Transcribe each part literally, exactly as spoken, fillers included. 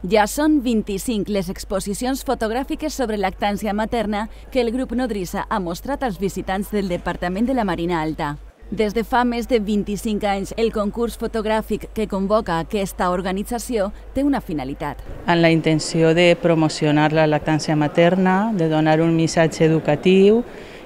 Ja són vint-i-cinc les exposicions fotogràfiques sobre lactància materna que el grup Nodrissa ha mostrat als visitants del Departament de la Marina Alta. Des de fa més de vint-i-cinc anys, el concurs fotogràfic que convoca aquesta organització té una finalitat. Amb la intenció de promocionar la lactància materna, de donar un missatge educatiu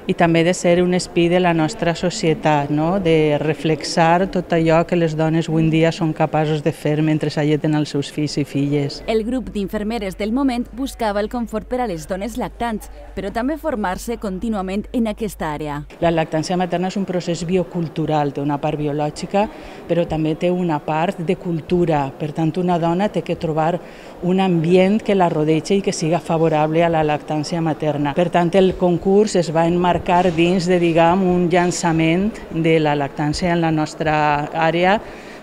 i també de ser un espill de la nostra societat, no? De reflexar tot allò que les dones avui en dia són capaços de fer mentre alleten els seus fills i filles. El grup d'infermeres del moment buscava el confort per a les dones lactants, però també formar-se contínuament en aquesta àrea. La lactància materna és un procés biocultural, té una part biològica, però també té una part de cultura. Per tant, una dona té que trobar un ambient que la rodeja i que siga favorable a la lactància materna. Per tant, el concurs es va enmarcar dins de, diguem, un llançament de la lactància en la nostra àrea,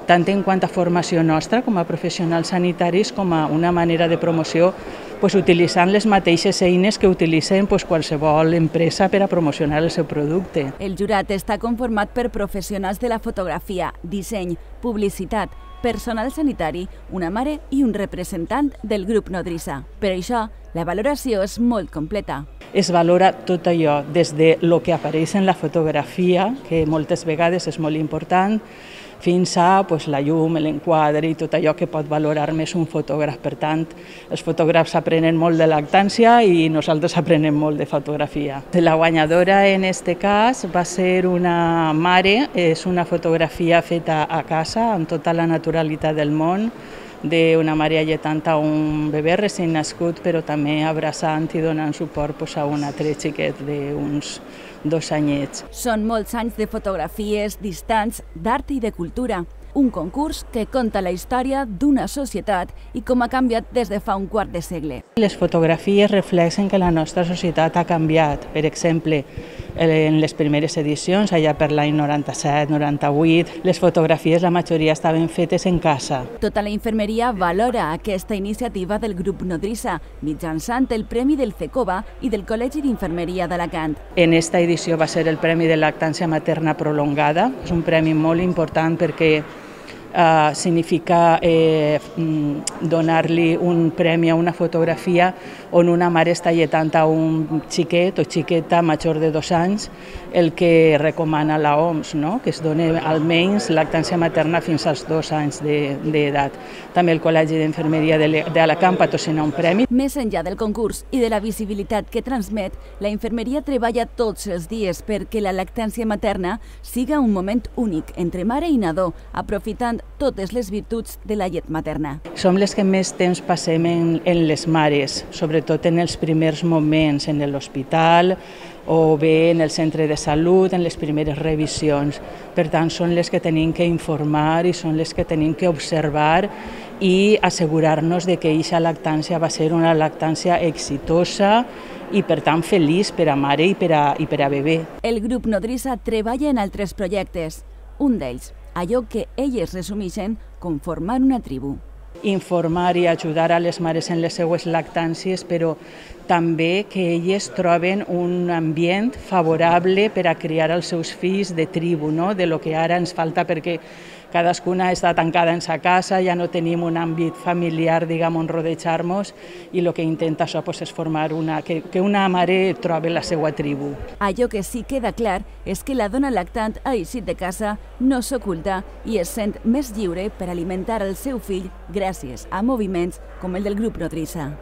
tant en quant a formació nostra com a professionals sanitaris com a una manera de promoció pues, utilitzant les mateixes eines que utilitzen pues, qualsevol empresa per a promocionar el seu producte. El jurat està conformat per professionals de la fotografia, disseny, publicitat, personal sanitari, una mare i un representant del grup Nodrissa. Per això, la valoració és molt completa. Es valora tot allò, des de lo que apareix en la fotografia, que moltes vegades és molt important, fins a pues, la llum, l'enquadre i tot allò que pot valorar més un fotògraf. Per tant, els fotògrafs aprenen molt de lactància i nosaltres aprenem molt de fotografia. La guanyadora en aquest cas va ser una mare, és una fotografia feta a casa amb tota la naturalitat del món, d'una mare alletant a un bebè recent nascut, però també abraçant i donant suport pues, a un altre xiquet d'uns dos anyets. Són molts anys de fotografies distants, d'art i de cultura. Un concurs que conta la història d'una societat i com ha canviat des de fa un quart de segle. Les fotografies reflexen que la nostra societat ha canviat. Per exemple, en les primeres edicions, allà per l'any noranta-set noranta-vuit, les fotografies, la majoria estaven fetes en casa. Tota la infermeria valora aquesta iniciativa del grup Nodrissa, mitjançant el Premi del CECOVA i del Col·legi d'Infermeria d'Alacant. En esta edició va ser el Premi de Lactància Materna Prolongada. És un premi molt important perquè Uh, significa eh, donar-li un premi a una fotografia on una mare està alletant a un xiquet o xiqueta major de dos anys, el que recomana la O M S, no? Que es doni almenys lactància materna fins als dos anys d'edat. També el Col·legi d'Infermeria d'Alacant patrocina un premi. Més enllà del concurs i de la visibilitat que transmet, la infermeria treballa tots els dies perquè la lactància materna siga un moment únic entre mare i nadó, aprofitant totes les virtuts de la llet materna. Som les que més temps passem en, en les mares, sobretot en els primers moments, en l'hospital o bé en el centre de salut, en les primeres revisions. Per tant, són les que tenim que informar i són les que tenim que observar i assegurar-nos de que aquesta lactància va ser una lactància exitosa i, per tant, feliç per a mare i per a, i per a bebè. El grup Nodrissa treballa en altres projectes. Un d'ells, allò que elles resumeixen com formar una tribu. Informar i ajudar a les mares en les seues lactàncies, però també que elles troben un ambient favorable per a criar els seus fills de tribu, no? De lo que ara ens falta perquè cadascuna està tancada en sa casa, ja no tenim un àmbit familiar, diguem, on rodejar-nos, i el que intenta això pues, és formar una, que, que una mare trobi la seva tribu. Allò que sí queda clar és que la dona lactant ha eixit de casa, no s'oculta i es sent més lliure per alimentar el seu fill gràcies a moviments com el del grup Nodrissa.